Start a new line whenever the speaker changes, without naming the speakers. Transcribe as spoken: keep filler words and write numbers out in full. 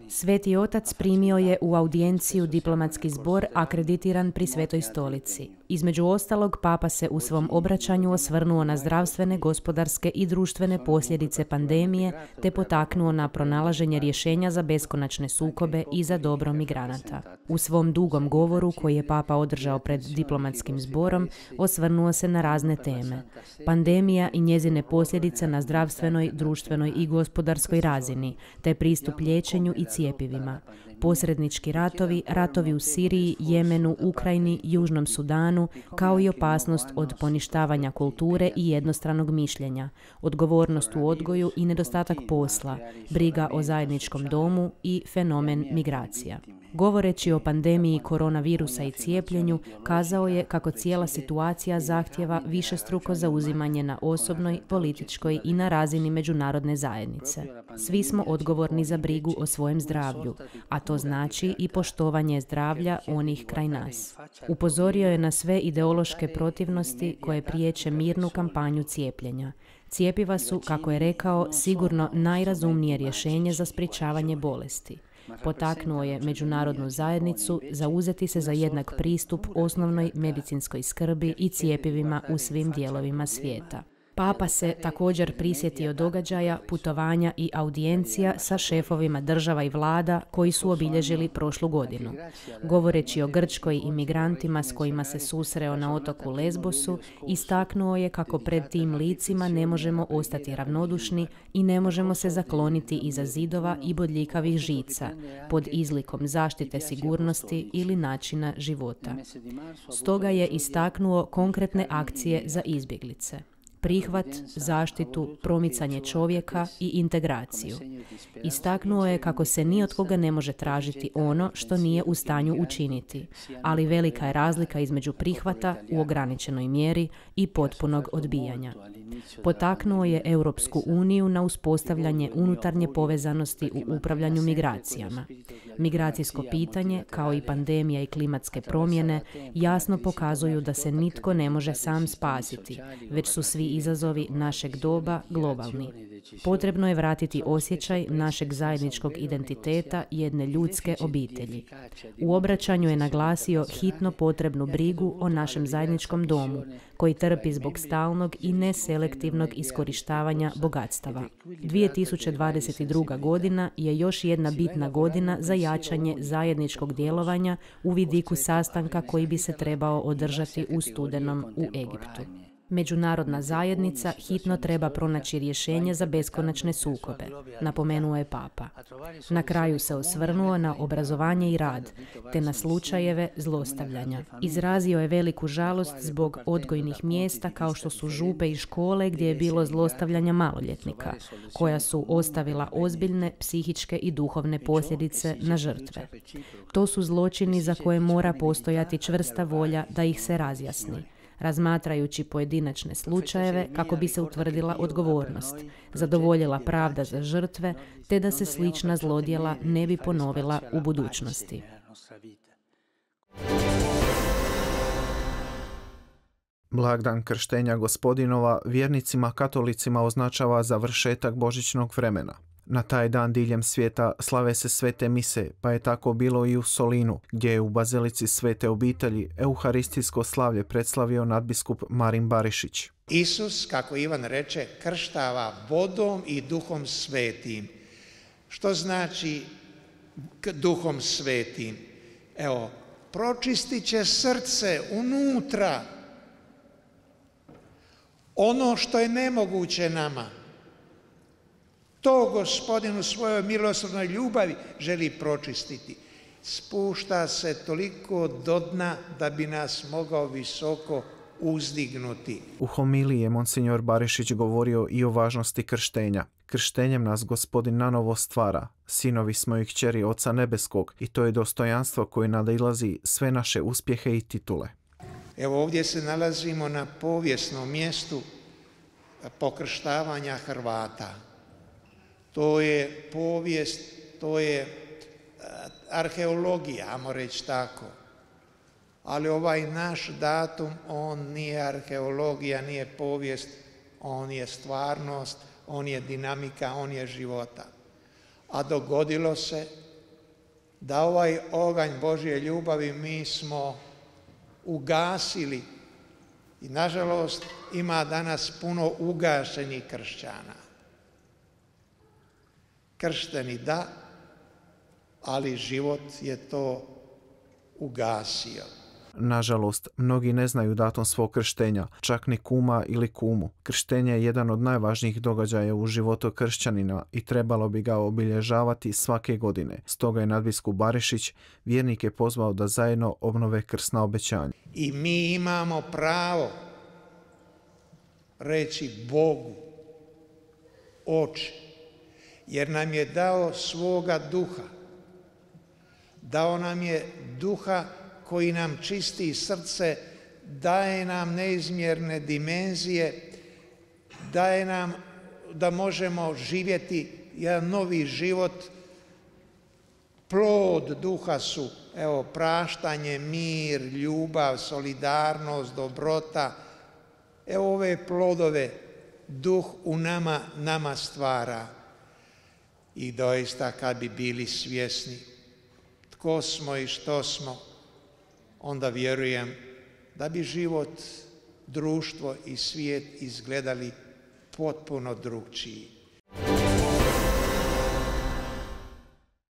Sveti otac primio je u audijenciju diplomatski zbor akreditiran pri Svetoj stolici. Između ostalog, papa se u svom obraćanju osvrnuo na zdravstvene, gospodarske i društvene posljedice pandemije te potaknuo na pronalaženje rješenja za beskonačne sukobe i za dobro migranata. U svom dugom govoru koji je papa održao pred diplomatskim zborom, osvrnuo se na razne teme. Pandemija i njezine posljedice na zdravstvenoj, društvenoj i gospodarskoj razini, te pristup liječenju i cjepivima. Posrednički ratovi, ratovi u Siriji, Jemenu, Ukrajini, Južnom Sudanu, kao i opasnost od poništavanja kulture i jednostranog mišljenja, odgovornost u odgoju i nedostatak posla, briga o zajedničkom domu i fenomen migracija. Govoreći o pandemiji koronavirusa i cijepljenju, kazao je kako cijela situacija zahtjeva višestruko zauzimanje na osobnoj, političkoj i na razini međunarodne zajednice. Svi smo odgovorni za brigu o svojem zdravlju, a to znači i poštovanje zdravlja onih kraj nas. Upozorio je na sve ideološke protivnosti koje priječe mirnu kampanju cijepljenja. Cijepiva su, kako je rekao, sigurno najrazumnije rješenje za sprječavanje bolesti. Potaknuo je međunarodnu zajednicu zauzeti se za jednak pristup osnovnoj medicinskoj skrbi i cjepivima u svim dijelovima svijeta. Papa se također prisjetio događaja, putovanja i audijencija sa šefovima država i vlada koji su obilježili prošlu godinu. Govoreći o Grčkoj i migrantima s kojima se susreo na otoku Lesbosu, istaknuo je kako pred tim licima ne možemo ostati ravnodušni i ne možemo se zakloniti iza zidova i bodljikavih žica, pod izlikom zaštite sigurnosti ili načina života. Stoga je istaknuo konkretne akcije za izbjeglice. Prihvat, zaštitu, promicanje čovjeka i integraciju. Istaknuo je kako se ni od koga ne može tražiti ono što nije u stanju učiniti, ali velika je razlika između prihvata u ograničenoj mjeri i potpunog odbijanja. Potaknuo je Europsku uniju na uspostavljanje unutarnje povezanosti u upravljanju migracijama. Migracijsko pitanje, kao i pandemija i klimatske promjene, jasno pokazuju da se nitko ne može sam spasiti, već su svi izazovi našeg doba globalni. Potrebno je vratiti osjećaj našeg zajedničkog identiteta jedne ljudske obitelji. U obraćanju je naglasio hitno potrebnu brigu o našem zajedničkom domu, koji trpi zbog stalnog i neselektivnog iskorištavanja bogatstava. dvije tisuće dvadeset druga. godina je još jedna bitna godina za jačanje zajedničkog djelovanja u vidiku sastanka koji bi se trebao održati u studenom u Egiptu. Međunarodna zajednica hitno treba pronaći rješenje za beskonačne sukobe, napomenuo je papa. Na kraju se osvrnuo na obrazovanje i rad, te na slučajeve zlostavljanja. Izrazio je veliku žalost zbog odgojnih mjesta kao što su župe i škole gdje je bilo zlostavljanja maloljetnika, koja su ostavila ozbiljne psihičke i duhovne posljedice na žrtve. To su zločini za koje mora postojati čvrsta volja da ih se razjasni, razmatrajući pojedinačne slučajeve kako bi se utvrdila odgovornost, zadovoljila pravda za žrtve, te da se slična zlodjela ne bi ponovila u budućnosti.
Blagdan krštenja Gospodinova vjernicima katolicima označava završetak božićnog vremena. Na taj dan diljem svijeta slave se svete mise, pa je tako bilo i u Solinu, gdje je u bazilici Svete obitelji euharistijsko slavlje predslavio nadbiskup Marin Barišić.
Isus, kako Ivan reče, krštava vodom i duhom svetim. Što znači duhom svetim? Evo, pročistit će srce unutra. Ono što je nemoguće nama, to Gospodin u svojoj milosrdnoj ljubavi želi pročistiti. Spušta se toliko do dna da bi nas mogao visoko uzdignuti.
U homiliji je monsignor Barišić govorio i o važnosti krštenja. Krštenjem nas Gospodin nanovo stvara. Sinovi smo i kćeri Oca Nebeskog i to je dostojanstvo koje nadilazi sve naše uspjehe i titule.
Evo ovdje se nalazimo na povijesnom mjestu pokrštavanja Hrvata. To je povijest, to je arheologija, ajmo reći tako. Ali ovaj naš datum, on nije arheologija, nije povijest, on je stvarnost, on je dinamika, on je života. A dogodilo se da ovaj oganj Božje ljubavi mi smo ugasili i nažalost ima danas puno ugašenih kršćana. Kršteni da, ali život je to ugasio.
Nažalost, mnogi ne znaju datum svog krštenja, čak ni kuma ili kumu. Krštenje je jedan od najvažnijih događaja u životu kršćanina i trebalo bi ga obilježavati svake godine. Stoga je nadbiskup Barišić vjernike pozvao da zajedno obnove krsna obećanja.
I mi imamo pravo reći Bogu, Oče, jer nam je dao svoga duha. Dao nam je duha koji nam čisti srce, daje nam neizmjerne dimenzije, daje nam da možemo živjeti jedan novi život. Plod duha su, evo, praštanje, mir, ljubav, solidarnost, dobrota. Evo ove plodove duh u nama, nama stvara. I doista kad bi bili svjesni tko smo i što smo, onda vjerujem da bi život, društvo i svijet izgledali potpuno drugčiji.